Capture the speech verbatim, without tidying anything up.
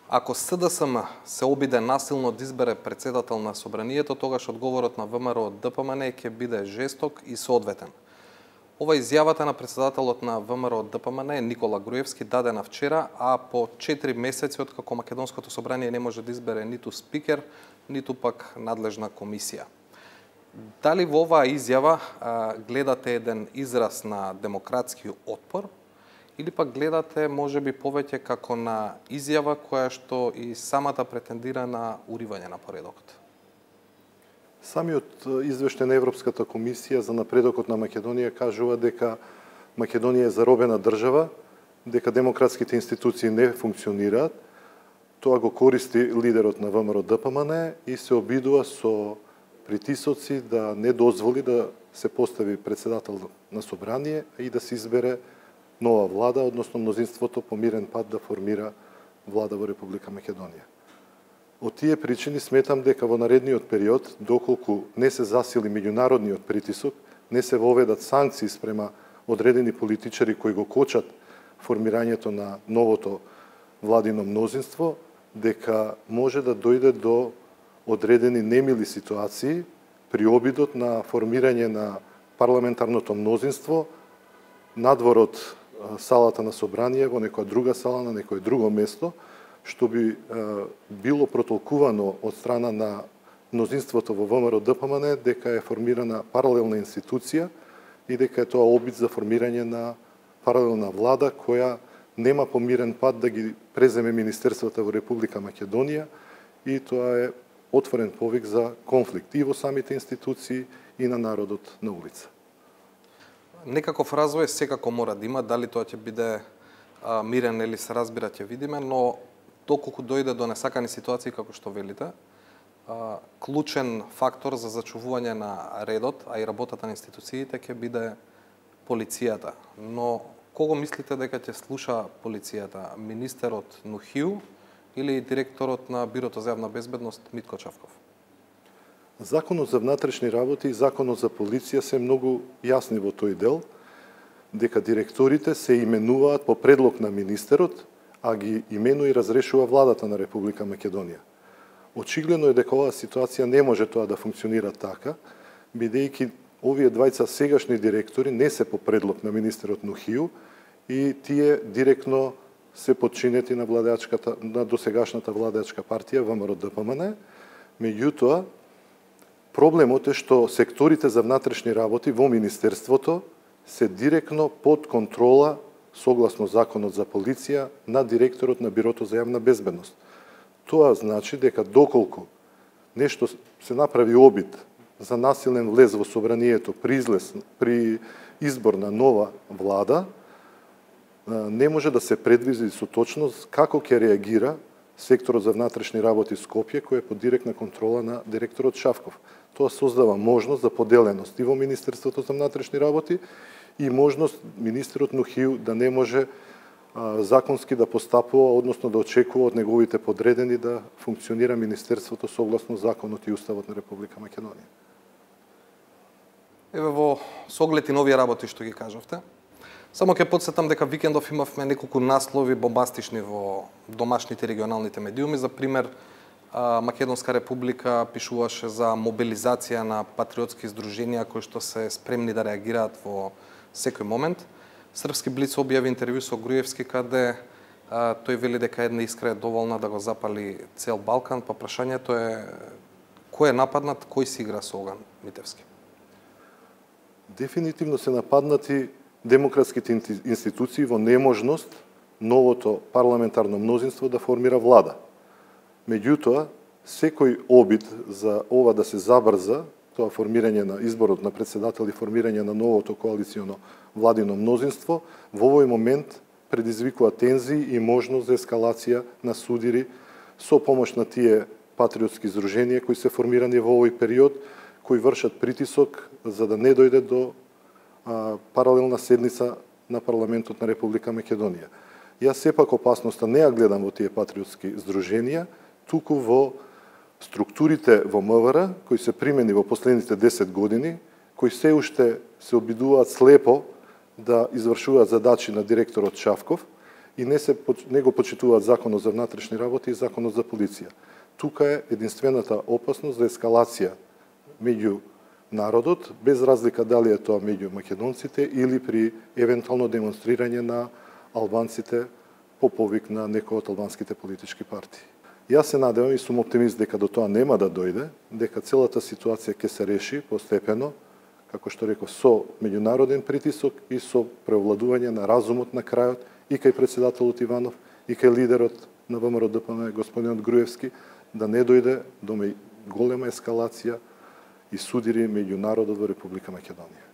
Ако С Д С М се обиде насилно да избере председател на собранието, тогаш одговорот на В М Р Д П М Н ќе биде жесток и соодветен. Ова изјавата на председателот на В М Р Д П М Н Никола Груевски дадена вчера, а по четири месеци од како Македонското собрание не може да избере ниту спикер, ниту пак надлежна комисија. Дали во оваа изјава а, гледате еден израз на демократски отпор или пак гледате можеби повеќе како на изјава која што и самата претендира на уривање на поредокот? Самиот извештај на Европската комисија за напредокот на Македонија кажува дека Македонија е заробена држава, дека демократските институции не функционираат. Тоа го користи лидерот на В М Р Д П М Н и се обидува со притисоци да не дозволи да се постави председател на собрание и да се избере нова влада, односно мнозинството по мирен пат да формира влада во Република Македонија. Од тие причини сметам дека во наредниот период, доколку не се засили меѓународниот притисок, не се воведат санкции спрема одредени политичари кои го кочат формирањето на новото владино мнозинство, дека може да дојде до одредени немили ситуации при обидот на формирање на парламентарното мнозинство надвор од салата на собрание во некоја друга сала на некое друго место, што би е, било протолкувано од страна на мнозинството во В М Р Д П М Н дека е формирана паралелна институција и дека е тоа обид за формирање на паралелна влада која нема помирен пат да ги преземе министерствата во Република Македонија и тоа е отворен повик за конфликт и во самите институции и на народот на улица. Некаков развој секако мора да има, дали тоа ќе биде а, мирен или се разбира ќе видиме, но доколку дојде до несакани ситуации како што велите, а, клучен фактор за зачувување на редот, а и работата на институциите ќе биде полицијата. Но кого мислите дека ќе слуша полицијата? Министерот Нухиу или директорот на Бирото за јавна безбедност Митко Чавков? Законот за внатрешни работи и Законот за полиција се многу јасни во тој дел, дека директорите се именуваат по предлог на министерот, а ги именува и разрешува владата на Република Македонија. Очигледно е дека оваа ситуација не може тоа да функционира така, бидејќи овие двајца сегашни директори не се по предлог на министерот Нухиу и тие директно се подчинети на владеачката на досегашната владеачка партија В М Р Д П М Н. Меѓутоа, проблемот е што секторите за внатрешни работи во Министерството се директно под контрола, согласно Законот за полиција, на директорот на Бирото за јавна безбедност. Тоа значи дека доколку нешто се направи обид за насилен влез во собранието при, излез, при избор на нова влада, не може да се предвиди со точност како ќе реагира секторот за внатрешни работи Скопје, кој е под директна контрола на директорот Шавков. Тоа создава можност за поделеност и во Министерството за внатрешни работи и можност министерот Нухиу да не може а, законски да постапува, односно да очекува од неговите подредени да функционира Министерството согласно Законот и Уставот на Република Македонија. Еве во соглед и нови работи што ги кажавте, само ќе потсетам дека викендов имавме неколку наслови бомбастични во домашните регионалните медиуми. За пример, Македонска република пишуваше за мобилизација на патриотски здруженија кои што се спремни да реагираат во секој момент. Српски Блиц објави интервју со Груевски каде а, тој вели дека една искра е доволна да го запали цел Балкан, па прашањето е кој е нападнат, кој си игра со оган, Митевски? Дефинитивно се нападнати демократските институции во неможност новото парламентарно мнозинство да формира влада. Меѓутоа, секој обид за ова да се забрза, тоа формирање на изборот на председател и формирање на новото коалиционо владино мнозинство, во овој момент предизвикува тензии и можност за ескалација на судири со помош на тие патриотски здруженија кои се формирани во овој период, кои вршат притисок за да не дојде до а, паралелна седница на парламентот на Република Македонија. Јас сепак опасноста не ја гледам во тие патриотски здруженија, туку во структурите во М В Р, кои се примени во последните десет години, кои се уште се обидуваат слепо да извршуваат задачи на директорот Шавков и не се не го почитуваат Законот за внатрешни работи и Законот за полиција. Тука е единствената опасност за ескалација меѓу народот, без разлика дали е тоа меѓу македонците или при евентуално демонстрирање на албанците по повик на некој од албанските политички партии. Јас се надевам и сум оптимист дека до тоа нема да дојде, дека целата ситуација ќе се реши постепено, како што реков, со меѓународен притисок и со преовладување на разумот на крајот и кај председателот Иванов и кај лидерот на ВМРО Д П М, господинот Груевски, да не дојде до голема ескалација и судири меѓу народот во Република Македонија.